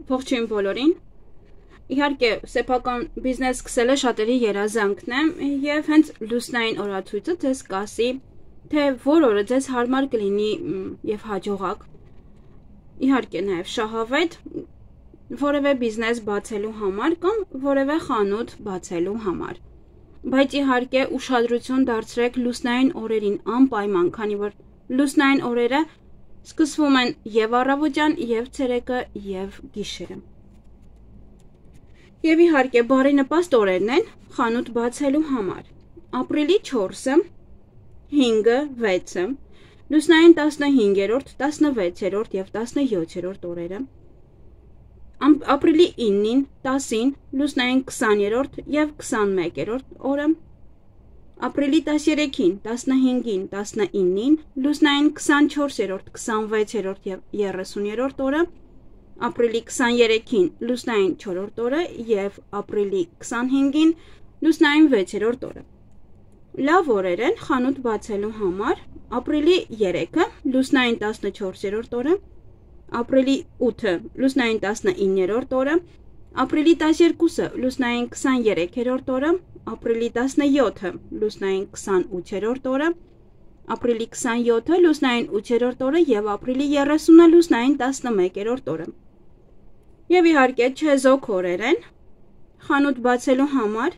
Ողջույն բոլորին։ Իհարկե, սեփական բիզնես սկսելը շատերի երազանքն է, եւ հենց լուսնային օրացույցը ձեզ կասի, թե որ օրը ձեզ հարմար կլինի եւ հաջողակ։ Իհարկե, նաեւ շահավետ որևէ բիզնես բացելու համար կամ որևէ խանութ բացելու համար։ Բայց իհարկե, ուշադրություն դարձրեք լուսնային օրերին անպայման, քանի որ լուսնային օրերը սկսվում են եւ առավոտյան, եւ ցերեկը, եւ գիշերը։ Եվ իհարկե, բարենպաստ օրերն են խանութ բացելու համար։ Ապրիլի 4-ը, 5-ը, 6-ը, լուսնային 15-րդ, 16-րդ եւ 17-րդ օրերը։ Ապրիլի 9-ին, 10-ին, լուսնային 20-րդ եւ 21-րդ օրը։ Ապրիլի 13-ին, 15-ին, 19-ին, լուսնային 24-րդ, 26-րդ եւ 30-րդ օրը, ապրիլի 23-ին, լուսնային 4-րդ օրը եւ ապրիլի 25-ին, լուսնային 6-րդ օրը։ Լավ օրեր են խանութ բացելու համար։ Ապրիլի 3-ը, լուսնային 14-րդ օրը, ապրիլի 8-ը, լուսնային 19-րդ օրը, ապրիլի 12-ը, լուսնային 23-րդ օրը, ապրիլի 17-ը, լուսնային 28-րդ օրը, ապրիլի 27-ը, լուսնային 8-րդ օրը եւ ապրիլի 30-ը, լուսնային 11-րդ օրը։ Եվ իհարկե չեզոք օրեր են խանութ բացելու համար։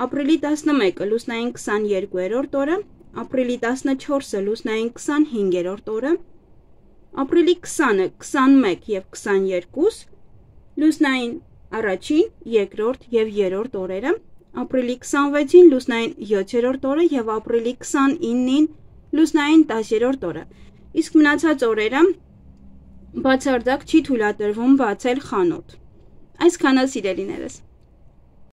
Ապրիլի 11-ը, լուսնային 22-րդ օրը, ապրիլի 14-ը, լուսնային 25-րդ օրը, ապրիլի 20-ը, 21 եւ 22, լուսնային առաջին, երկրորդ եւ երրորդ օրերը, ապրիլի 26-ին լուսնային 7-րդ օրը եւ ապրիլի 29-ին լուսնային 10-րդ օրը։ Իսկ մնացած օրերը բացարձակ չի թույլատրվում բացել խանութ։ Այսքանը, սիրելիներս։